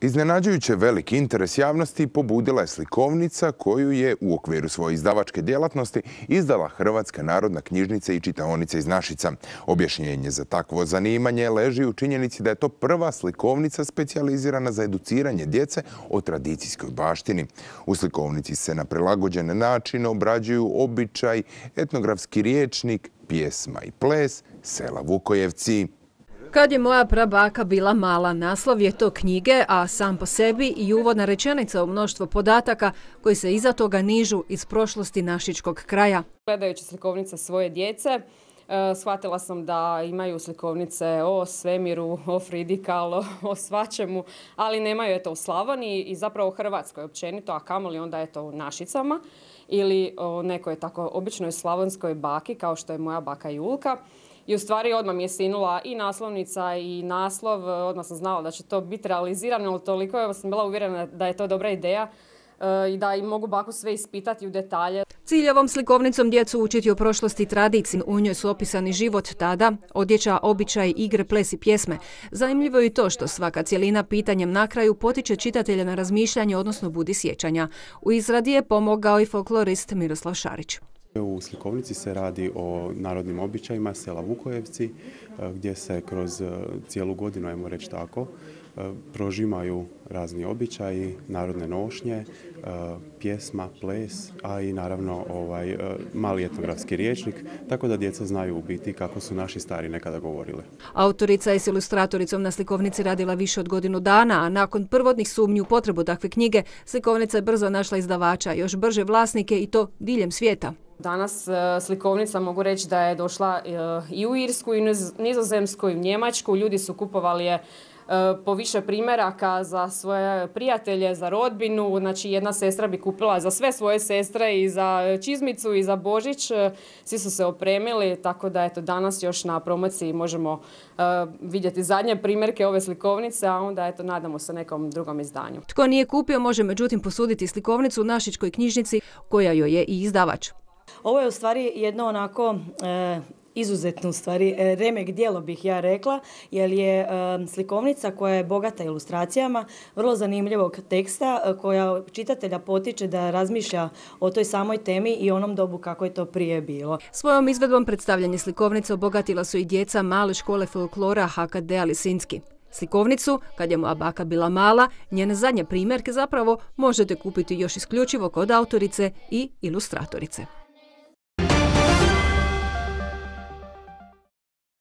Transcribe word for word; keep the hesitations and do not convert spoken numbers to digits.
Iznenađujuće veliki interes javnosti pobudila je slikovnica koju je u okviru svoje izdavačke djelatnosti izdala Hrvatska narodna knjižnica i čitaonica iz Našica. Objašnjenje za takvo zanimanje leži u činjenici da je to prva slikovnica specijalizirana za educiranje djece o tradicijskoj baštini. U slikovnici se na prilagođen način obrađuju običaj, etnografski rječnik, pjesma i ples sela Vukojevci. Kad je moja prabaka bila mala, naslov je to knjige, a sam po sebi i uvodna rečenica u mnoštvo podataka koji se iza toga nižu iz prošlosti našičkog kraja. Gledajući slikovnice svoje djece, shvatila sam da imaju slikovnice o svemiru, o Fridikalu, o svačemu, ali nemaju eto u Slavoniji i zapravo u Hrvatskoj općenito, a kamoli onda eto u Našicama ili o nekoj tako običnoj slavonskoj baki kao što je moja baka Julka. I u stvari odmah mi je sinula i naslovnica i naslov, odmah sam znala da će to biti realizirano, ali toliko sam bila uvjerena da je to dobra ideja i da im mogu baku sve ispitati u detalje. Cilj ovom slikovnicom djecu učiti o prošlosti i tradiciji. U njoj su opisani život tada, odjeća, običaj, igre, ples i pjesme. Zanimljivo je i to što svaka cjelina pitanjem na kraju potiče čitatelja na razmišljanje, odnosno budi sjećanja. U izradi je pomogao i folklorist Miroslav Šarić. U slikovnici se radi o narodnim običajima sela Vukojevci, gdje se kroz cijelu godinu, ajmo reći tako, prožimaju razni običaji, narodne nošnje, pjesma, ples, a i naravno ovaj mali etnografski rječnik, tako da djeca znaju u biti kako su naši stari nekada govorili. Autorica je s ilustratoricom na slikovnici radila više od godinu dana, a nakon prvotnih sumnji u potrebu takve knjige, slikovnica je brzo našla izdavača, još brže vlasnike i to diljem svijeta. Danas slikovnica mogu reći da je došla i u Irsku, i Nizozemsku, i u Njemačku. Ljudi su kupovali je po više primjeraka za svoje prijatelje, za rodbinu. Znači jedna sestra bi kupila za sve svoje sestre i za čizmicu i za Božić. Svi su se opremili, tako da eto, danas još na promociji možemo uh, vidjeti zadnje primjerke ove slikovnice, a onda eto, nadamo se nekom drugom izdanju. Tko nije kupio može međutim posuditi slikovnicu u Našičkoj knjižnici koja joj je i izdavač. Ovo je u stvari jedno onako e, izuzetno u stvari e, remek djelo bih ja rekla, jer je e, slikovnica koja je bogata ilustracijama, vrlo zanimljivog teksta e, koja čitatelja potiče da razmišlja o toj samoj temi i onom dobu kako je to prije bilo. Svojom izvedbom predstavljanje slikovnice obogatila su i djeca male škole folklora H K D-a Lisinski. Slikovnicu, kad je moja baka bila mala, njene zadnje primjerke zapravo možete kupiti još isključivo kod autorice i ilustratorice.